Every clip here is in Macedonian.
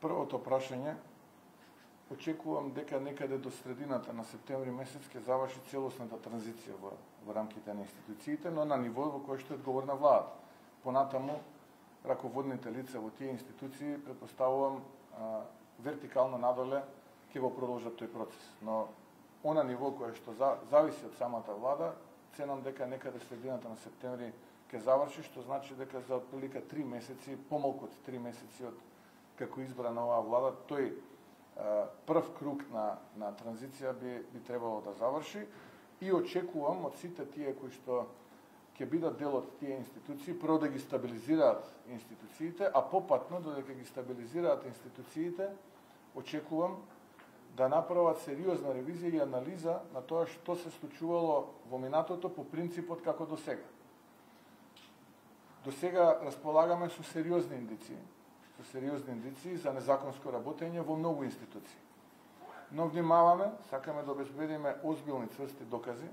Првото прашање, очекувам дека некаде до средината на септември месец ќе заврши целосната транзиција во рамките на институциите, но на ниво во кој што е одговорна владата. Понатаму, раководните лица во тие институции, предпоставувам, вертикално надоле ќе го продолжат тој процес. Но она ниво кое што зависи од самата влада, ценам дека некаде средината на септември ќе заврши, што значи дека за отприлика 3 месеци, помалку од 3 месеци од како избрана оваа влада, тој прв круг на транзиција би требало да заврши и очекувам од сите тие кои што ќе бидат дел од тие институции, прво да ги стабилизираат институциите, а попатно додека ги стабилизираат институциите, очекувам да направат сериозна ревизија и анализа на тоа што се случувало во минатото по принципот како до сега. До сега располагаме со сериозни индиции за незаконско работење во многу институции. Но внимаваме, сакаме да обезбедиме озбилни цврсти докази,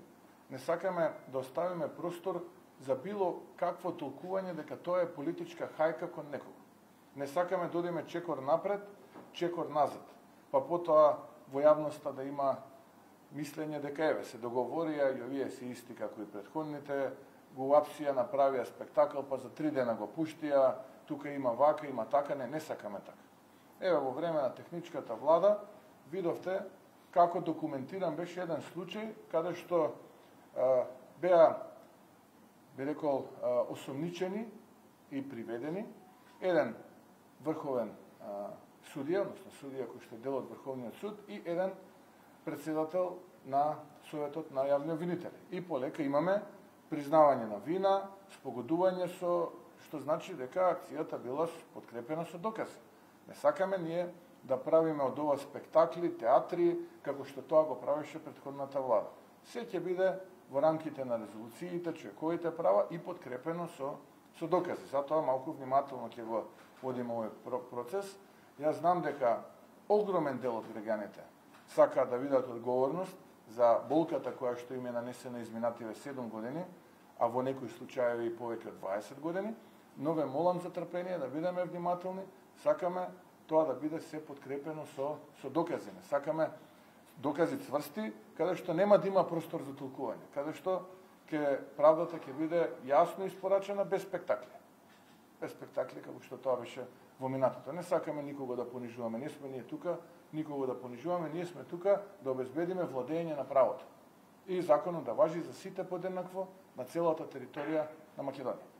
не сакаме да оставиме простор за било какво толкување дека тоа е политичка хајка кон некого. Не сакаме да одиме чекор напред, чекор назад, па потоа во јавноста да има мислење дека еве се договорија и овие се исти како и претходните, го апсија, направија спектакл, па за 3 дена го пуштија, тука има вака, има така, не сакаме така. Еве во време на техничката влада видовте како документиран беше еден случај каде што беа, би рекол, осомничени и приведени еден врховен судија, односно судија кој што е дел од Врховниот суд и еден председател на Советот на јавни обвинители. И полека имаме признавање на вина, спогодување со, што значи дека акцијата била подкрепена со докази. Не сакаме ние да правиме од ова спектакли, театри, како што тоа го правеше претходната влада. Се ќе биде во рамките на резолуциите, човековите права и подкрепено со докази. Затоа малку внимателно ќе го водиме овој процес. Јас знам дека огромен дел од граѓаните сакаат да видат одговорност за болката која што им е нанесена изминативе 7 години, а во некои случаи и повеќе од 20 години, но ве молам за трпение, да бидеме внимателни, сакаме тоа да биде се подкрепено со докази. Не сакаме докази цврсти, каде што нема да има простор за толкување, каде што правдата ќе биде јасно испорачена без спектакли. Без спектакли, како што тоа беше во минатото. Не сакаме никого да понижуваме, не сме ние тука никого да понижуваме, ние сме тука да обезбедиме владење на правото. И законот да важи за сите подеднакво на целата територија на Македонија.